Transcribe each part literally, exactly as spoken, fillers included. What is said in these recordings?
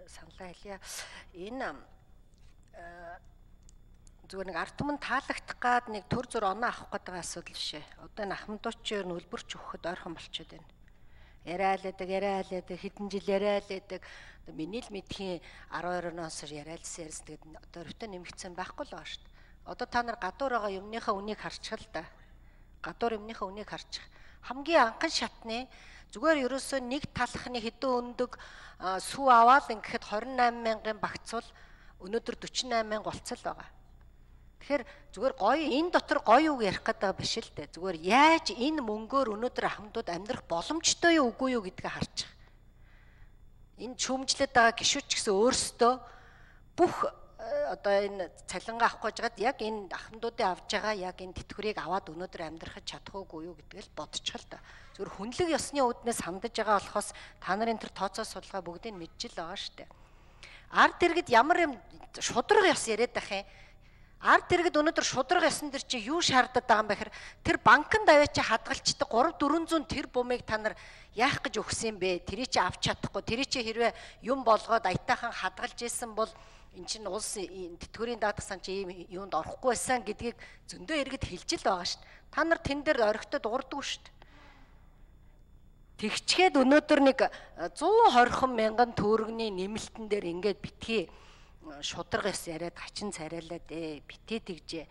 саналаа хэлье. Энэ зүгээр нэг ард түмэн таалагдах гад нэг төр зур оноо авах гэдэг асуудал бишээ. Одоо энэ ахмадуудчаар нөлбөрч өгөхөд ойрхон болчиход байна. Яриалаадаг, яриалаадаг, хэдэн жил яриалаадаг. Одоо миний л мэдхийн арван хоёр оноос яриалсан ярьсан. Тэгээд одоо өртөө нэмэгдсэн байхгүй л байгаа шүү дээ. Одоо та нар гадуур байгаа юмныхаа үнийг харчих л да. Гадуур юмныхаа үнийг харчих. Хамгийн анхан шатны зүгээр ерөөсөө нэг талхны хэдэн өндөг сүү аваад ингээд хорин найман мянган багцвал өнөөдөр дөрвөн найман мянга болцол байгаа. Тэгэхээр зүгээр гоё энэ дотор гоё үг ярих гэдэг биш л дээ. Зүгээр яаж энэ мөнгөөр өнөөдөр ахмадууд амьдрах боломжтой юу үгүй юу гэдгийг харчих. Энэ шүүмжлээд байгаа гишүүд ч гэсэн өөрсдөө бүх одоо энэ цалингаа авах гэж байгаад яг энэ ахмадуудын авж байгаа яг энэ тэтгэврийг аваад өнөөдөр амьдрахад чадах уугүй юу гэдгийг л бодчих л да. Зүгээр хүнлэг ёсны үүднээс хандаж байгаа болохоос та нарын тэр тооцоо судалгаа бүгдийг мэдчихэл байгаа шүү дээ. Ард иргэд ямар юм шудраг ёс яриад байх юм. Ард иргэд өнөөдөр шудраг ёсон дэр чи юу шаардаад байгаа юм бэхэр тэр банкнд аваад чи хадгалчдаг гурав дөрвөн зуун тэр бумыг та нар яах гэж өгсөн бэ? Тэрийг чи авч чадахгүй. Тэрийг чи хэрвээ юм болгоод аятайхан хадгалж исэн бол эн чинь улс тэтгэврийн даатгах сан чи ийм юунд орохгүй байсан гэдгийг зөндөө иргэд хэлж л байгаа шүү дээ. Та нар тэн дээр орхитой дуурдаггүй шүү дээ. Тэгчгээд өнөөдөр нэг зуун хорхон мянган төгрөгийн нэмэлтэн дээр ингээд битгий шудраг ёс яриад хачин царайлаа дээ. Битээ тэгжээ.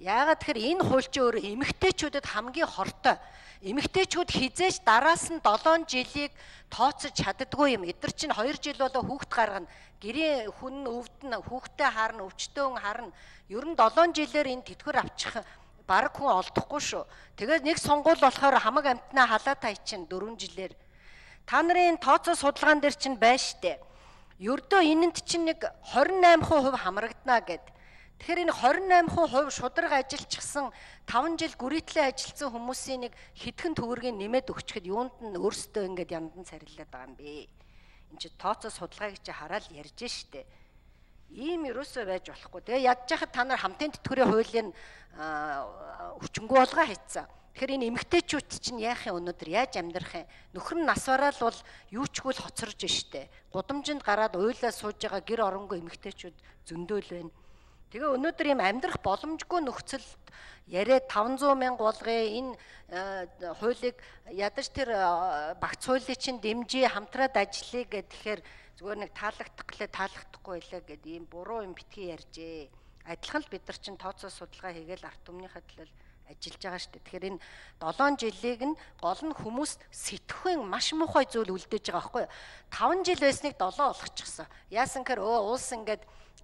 Яагаад тэгэхээр энэ хуульчин өөр эмэгтэйчүүдэд хамгийн хортой. Эмэгтэйчүүд хизээч дараас нь долоон жилийг тооцож чаддаггүй юм. Эдгээр чинь хоёр жил болоо хүүхд гаргана. Гэрийн хүн өвдөн хүүхдэд харна, өвчтөө хүн харна. Ер нь долоон жилээр энэ тэтгэвэр авчих бараг хүн олдохгүй шүү. Тэгээд нэг сонгуул болохоор хамаг амтнаа халаа тайчин дөрвөн жилээр. Та нарын тооцоо судалгаан дээр чинь байна штэ. Ердөө энэнд чинь нэг хорин найман хувь хамрагдана гэд. Тэгэхээр энэ хорин найман хувь шудраг ажилчсан таван жил гүрийтлээ ажилтсан хүмүүсийн нэг хэдхэн төгрөгийг нэмээд өгчөд юунд нь өөрсдөө ингээд яндан царилаад байгаа юм бэ? Энд чи тооцоо судалгааг чи хараад ярьж штэ. Ийм ерөөсөө байж болохгүй. Тэгээ ядж яхад та нар хамтын тэтгэврийн хуулийн хүчингү болгоо хийцэн. Тэгэхээр энэ эмэгтэйчүүд чинь яах юм өнөөдөр яаж амьдрах юм? Нөхөр нь нас бараал бол юу ч гүйл хоцорж штэ. Гудамжинд гараад уйлаа сууж байгаа гэр оронгүй эмэгтэйчүүд зөндөөл байна. Тэгээ өнөөдөр ийм амьдрах боломжгүй нөхцөлд яриад таван зуун мянга болгоё энэ хуулийг ядаж тэр багц хуулийн чинь дэмжиж хамтраад ажиллая гэхээр зүгээр нэг таалагдах гэлээ таалагдахгүй байлаа гэд ийм буруу юм битгий ярьжээ. Адилхан л бид нар чинь тооцоо судалгаа хийгээл ард түмнийхээ төлөө ажиллаж байгаа шүү дээ. Тэгэхээр энэ долоон жилийг нь гол нь хүмүүс сэтгэхүйн маш муухай зүйл үлдээж байгаа байхгүй юу? таван жил байсныг долоо болгочихсон. Яасан гэхээр өө уус ингээд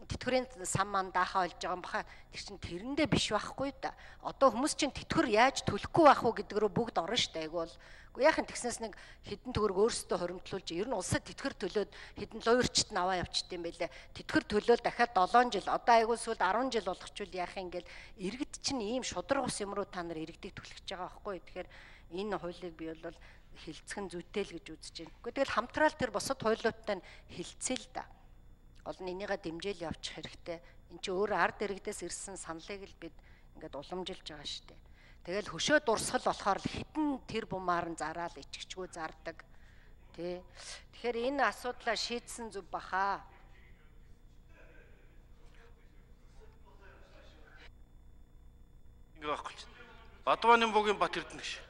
тэтгэврийн сан ман даахаа олж байгаа юм баха. Тэр чинь тэрэндээ биш байхгүй да. Одоо хүмүүс чинь тэтгэвэр яаж төлөхгүй байх уу гэдэг рүү бүгд орно шүү дээ. Айгу бол яахан тэгснээс нэг хэдэн төгрөг өөрсдөө хоримтлуулж ер нь улсад тэтгэр төлөөд хэдэн луйрчт нь аваа явчихд юм байлээ. Тэтгэр төлөөл дахиад долоон жил одоо айгу сүлд арван жил болгочвол яах юм гээл иргэд чинь ийм шудраг ус юм руу та нар иргэдийг түлхэж байгаа байхгүй. Тэгэхээр энэ хуулийг би бол хилцхэн зүйтэй л гэж үзэж байна. Гэхдээ тэгэл хамтраал тэр босод хуулиудтай хилцээ л да. Гол нь энийгээ дэмжээл явуучих хэрэгтэй. Энд чи өөр ард иргэдээс ирсэн саналыг л бид ингээд уламжилж байгаа шүү дээ. Тэгэл хөшөө дурсгал болохоор хитэн тэр бумаар нь зараал ичгчгүй зардаг. Тэ. Тэгэхээр энэ асуудлаа шийдсэн зүв баха. Ингээ байхгүй. Бадбааны бүгийн Бат Эрдэнэ гэж.